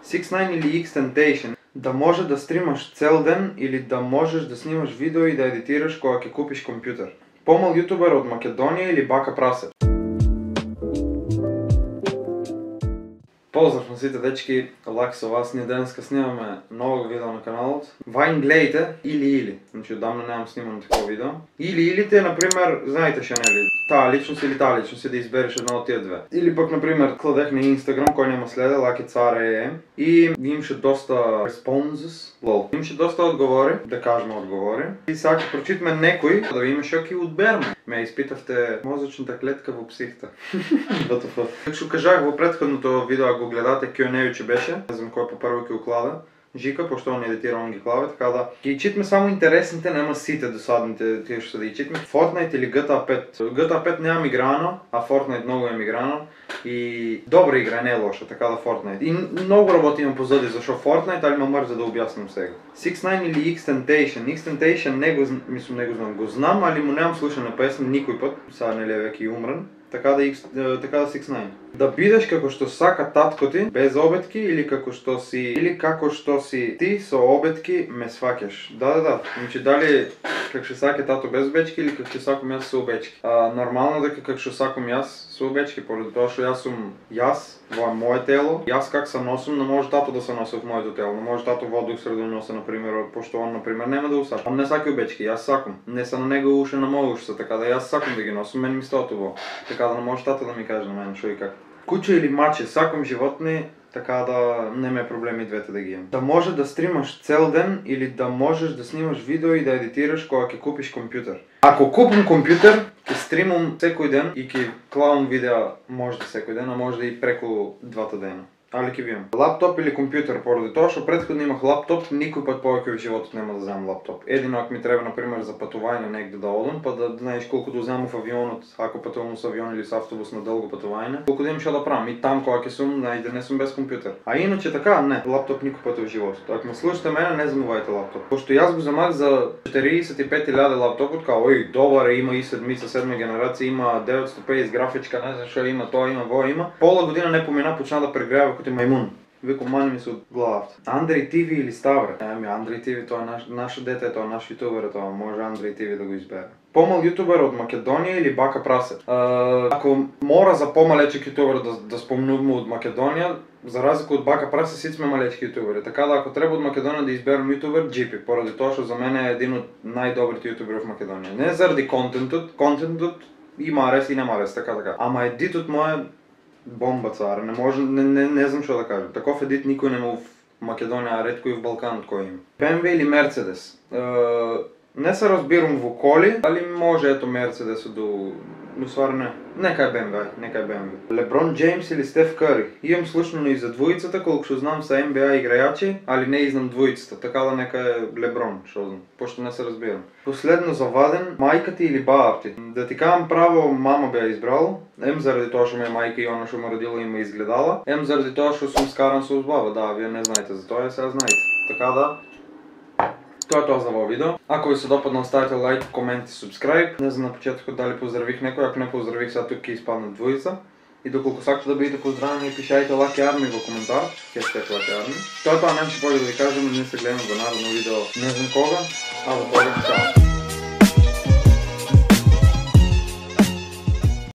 6ix9ine или XXXTentacion, да може да стримаш цел ден или да можеш да снимаш видео и да едитираш кога ќе купиш компјутер. Помал јутубер од Македонија или Бака Прасе? Поздрав на сите дечки, лаки со вас, ние денеска снимаме ново видео на каналот. Вајн гледайте или. Значи одамна немам снимано такова видео. Или-илите, например, знаете што нели, таа личност или таа личност и да избереш една од тие две. Или пак, например, кладех на Инстаграм, кој нема следе, Лаки Цар и имаше доста responses, имаше доста одговори, да кажеме одговори. И сега ќе прочитаме некој, да видиме што ќе одберме. Ме испитавте мозочната клетка во психта. Како што кажах во претходното видео, ако го гледате, Q&A че беше, не знам кој по прво ќе уклада, Жика, пошто он едитира, он ги клаве, така да ги читме само интересните, нема сите досадните тие што да ги читме. Fortnite или GTA 5. GTA 5 немам играно, а Fortnite многу имам играно и добра игра, не е лоша, така да Fortnite. И многу работи имам позади зашо Fortnite, али ме мрза да објаснам сега. 6ix9ine или XXXTentacion. XXXTentacion не го знам, го знам, али му немам слушана песна никој пат, сега нели е веќе умрен. Така да 6ix9ine. Да бидеш како што сака татко ти, без обетки, или како што си ти со обетки ме сваќаш. Да. Значи дали како што сака тато без обечки или како што сакам јас со обечки. Нормално дека како што сакам јас со обечки, поради тоа што јас сум во мое тело. Јас как се носам, не може тато да се носи во моето тело. Не може тато водух среда да носи, например, пошто он, например, нема да усака. Он не сака обечки, јас сакам. Не се на него уше на моје уште, така да јас сакам да ги носам, мене ми стото во. Така да не може тато да ми каже на мене што и как. Куче или маче, сакам животни, така да не ме проблеми двете да ги имам. Да може да стримаш цел ден или да можеш да снимаш видео и да едитираш кога ќе купиш компјутер. Ако купам компјутер, ќе стримам секој ден и ќе клавам видеа може да секој ден, а може да и преку 2 дена. Али ќе видам. Лаптоп или компјутер, поради тоа што претходно имах лаптоп, никој пат повеќе во животот нема да земам лаптоп. Едино ако ми треба например за патување негде да одам, па да знаеш колку да земам во авионот, ако патувам со авион или со автобус на долго патување, колку да имам што да правам и там кога ќе сум, најде не сум без компјутер. А иначе така, не, лаптоп никој пат во животот. Ако ме слушате мене, не земувајте лаптоп. Пошто јас го земав за 45.000 лаптопот, као ој добар има i7, 7 генерација, има 950 графичка, не знам што има, тоа има, во има. Пола година не помина, почна да прегрева кој мајмун. Викам, мани ми се од главата. Андрей ТВ или Ставре? Андрей ТВ, тоа е наше дете, тоа е наш јутубер, тоа може Андрей ТВ да го избере. Помал јутубер од Македонија или Бака Прасе? Ако мора за помалечек јутубер да спомнуваме од Македонија, за разлика од Бака Прасе, сите сме малечки јутубери. Така да ако треба од Македонија да изберам јутубер, GP, поради тоа што за мене е един од најдобрите јутубери во Македонија. Не заради контентот има арес и нема арес, така. Ама едитот мој бомба цар, не знам што да кажам. Таков едит никој нема во Македонија, а ретко и в Балканот кој има. BMW или Мерцедес? Не се разбирам во коли, али може ето Мерцедесот до... Но ствар не. Нека е BMW. Леброн Джеймс или Стеф Кари? Имам слушано и за двојицата, колку што знам са NBA играјачи, али не знам двојицата, така да нека е Леброн, што знам, пошто не се разбирам. Последно заваден, мајка ти или баба ти? Да ти кажам право, мама беа избрал, ем заради тоа што ме мајка и она што ме родила и ме изгледала, ем заради тоа што сум скаран со баба, да, вие не знаете за тоа, сега знаете. Така да, тоа е тоа за овој видео. Ако ви се допадна, оставете лайк, комент и субскрайб. Не знам на почетокот дали поздравих некој, ако не поздравих, сега тук ќе испаднат двојица. И доколку сакате да бидете поздравени, пишајте Лаки Арми во коментар, хештег Лаки Арми. Тоа немаше повеќе да ви кажам, ние се гледаме во наредно видео не знам кога, а во тоа чао.